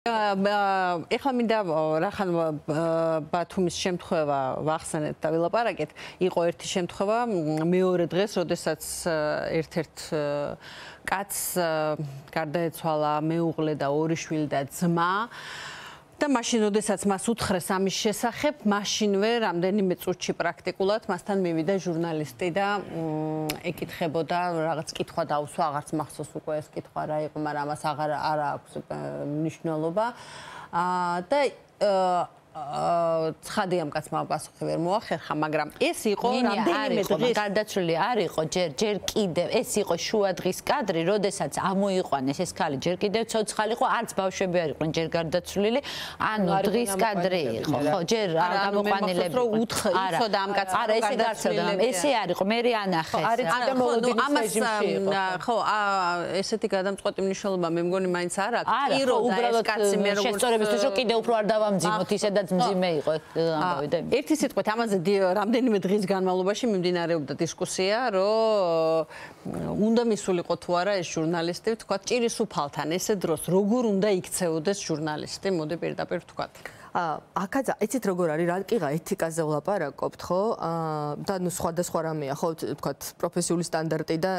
ეხლა მინდა რახან ბათუმის შემთხვევა ვახსენეთ და ვილაპარაკეთ. იყო ერთი შემთხვევა მეორე დღეს, როდესაც ერთ-ერთ კაცს გარდაეცვალა მეუღლე და ორი შვილი და ძმა. და მაშინ, როდესაც მას უთხრეს ამის შესახებ, მაშინვე რამდენიმე წუთში პრაქტიკულად მასთან მივიდა ჟურნალისტი და ეკითხებოდა რაღაც კითხვა დაუსვა, აღარც მახსოვს უკვე ეს კითხვა რა იყო, მაგრამ ამას აღარ აქვს მნიშვნელობა. და ცხადი ამ კაცმა პასუხი ვერ მოახერხა, მაგრამ ეს იყო რამდენიმე დღის გარდაცვლილი არ იყო ჯერ კიდევ ეს იყო შუა დღის კადრი, როდესაც ამოიყვანეს ეს ქალი ჯერ კიდევ ცოცხალი იყო, არც ბავშვები არ იყვნენ ჯერ გარდაცვლილი, ანუ დღის კადრი იყო, ხო, ჯერ არ გამოყვანილები უთხრა ამ კაცმა არა ესე გარცევდა, ესე არ იყო, მე ანახეს ამას ხო, ესეთი გადამწყვეტი მნიშვნელობა მე მგონი მაინც არ აქვს, პირო უბრალოდ კაცი მე როგორც შესწორებისთვის რომ კიდევ უფრო არ დავამძიმოთ ისედაც მძიმე იყო ამბავი და ერთი სიტყვით ამაზე რამდენიმე დღის განმავლობაში მიმდინარეობდა დისკუსია, რომ უნდა მისულიყო თუ არა ეს ჟურნალისტი, თქვა ჭირის უფალთან ესე დროს როგორ უნდა იქცეოდეს ჟურნალისტი, მოდი პირდაპირ ვთქვათ. აქაც იცით როგორ არის, რა კიღა ეთიკაზე ვლაპარაკობთ, ხო? და ნუ სხვადასხვა რამეა, ხო, ვთქვათ, პროფესიული სტანდარტი და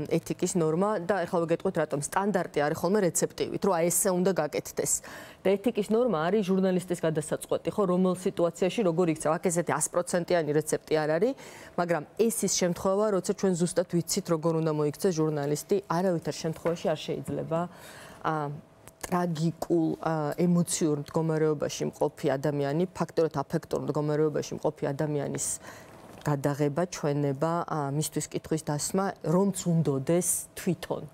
ეთიკის ნორმა და ეხლა ვიგეტყვით, რატომ სტანდარტი არის ხოლმე რეცეპტივით, რომ აი ესე უნდა გაკეთდეს. და ეთიკის ნორმა არის ჟურნალისტის გადასაწყვეტი, ხო, რომელ სიტუაციაში როგორ იქცევ. აქ ესეთი 100%-იანი რეცეპტი არ არის, მაგრამ ეს ის შემთხვევა, როცა ჩვენ ზუსტად ვიცით, როგორ უნდა მოიქცეს ჟურნალისტი, არავითარ შემთხვევაში არ შეიძლება ტრაგიკულ ემოციურ მდგომარეობაში მყოფი ადამიანი, ფაქტორად აფექტურ მდგომარეობაში მყოფი ადამიანის გადაღება, ჩვენება, მისთვის კითხვის დასმა, რომც უნდოდეს თვითონ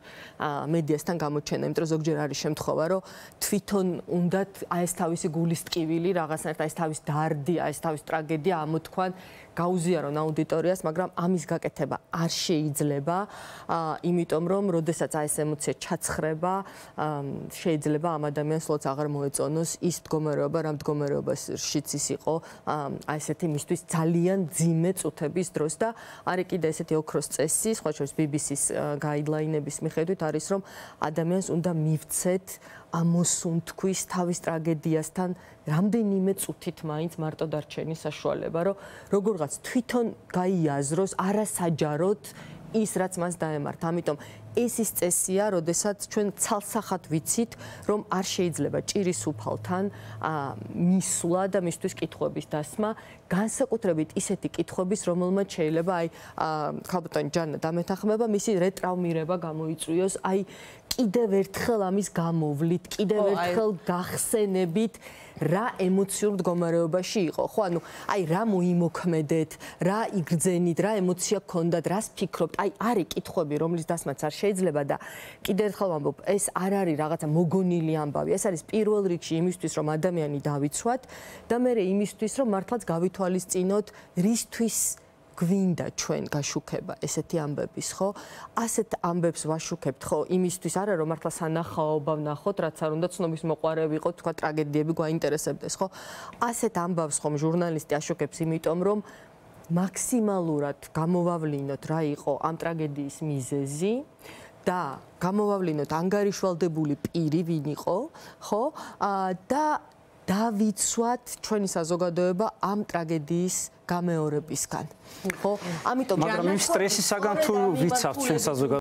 მედიასთან გამოჩენა, იმიტომ რომ ზოგჯერ არის შემთხვევა, რომ თვითონ უნდათ აი ეს თავისი გულის ტკივილი, რაღაცნაირად აი ეს თავის დარდი, აი ეს თავის ტრაგედია ამოთქვან, გაუზიარონ აუდიტორიას, მაგრამ ამის გაკეთება არ შეიძლება, იმიტომ რომ როდესაც აი ეს ემოცია ჩაცხრება, შეიძლება ამ ადამიანს ლოც აღარ მოეწონოს ის მდგომარეობა, რა მდგომარეობაშიც ის იყო, აი ესეთი მისთვის ძალიან ძიმე წუთების დროს და არის კიდე ესეთი ოქროს წესი, სხვა შორის BBC-ს გაიდლაინების მიხედვით არის, რომ ადამიანს უნდა მივცეთ ამოსუნთქვის თავის ტრაგედიასთან რამდენიმე წუთით მაინც მარტო დარჩენის საშუალება, რომ როგორღაც თვითონ გაიაზროს არასაჯაროდ ის, რაც მას დაემართ. ამიტომ ეს ის წესია, როდესაც ჩვენ ცალსახად ვიცით, რომ არ შეიძლება ჭირის უფალთან მისვლა და მისთვის კითხვების დასმა, განსაკუთრებით ისეთი კითხვების, რომელმაც შეიძლება აი ხალბატონი ჯანა დამეთანხმება, მისი რეტრაუმირება გამოიწვიოს, აი კიდევ ერთხელ ამის გამოვლით, კიდევ ერთხელ გახსენებით რა ემოციურ მდგომარეობაში იყო, ხო, ანუ აი რა მოიმოქმედეთ, რა იგრძენით, რა ემოცია გქონდათ, რას ფიქრობთ, აი არის კითხვები, რომლის დასმაც არ შეიძლება და კიდევ ერთხელ ვამბობ, ეს არ არის რაღაცა მოგონილი ამბავი, ეს არის პირველ რიგში იმისთვის, რომ ადამიანი დავიცვათ და მერე იმისთვის, რომ მართლაც გავითვალისწინოთ, რისთვის გვინდა ჩვენ გაშუქება ესეთი ამბების, ხო? ასეთ ამბებს ვაშუქებთ, ხო, იმისთვის არა, რომ მართლა სანახაობა ვნახოთ, რაც არ უნდა ცნობის მოყვარე ვიყოთ, თქვა ტრაგედიები გვაინტერესებდეს, ხო? ასეთ ამბავს ხომ ჟურნალისტი აშუქებს, იმიტომ რომ მაქსიმალურად გამოვავლინოთ რა იყო ამ ტრაგედიის მიზეზი და გამოვავლინოთ ანგარიშვალდებული პირი ვინ იყო, ხო? და დავიცვათ ჩვენი საზოგადოება ამ ტრაგედიის გამეორებისგან. ხო? ამიტომ მაგრამ იმ სტრესისაგან თუ ვიცავთ ჩვენ საზოგადოება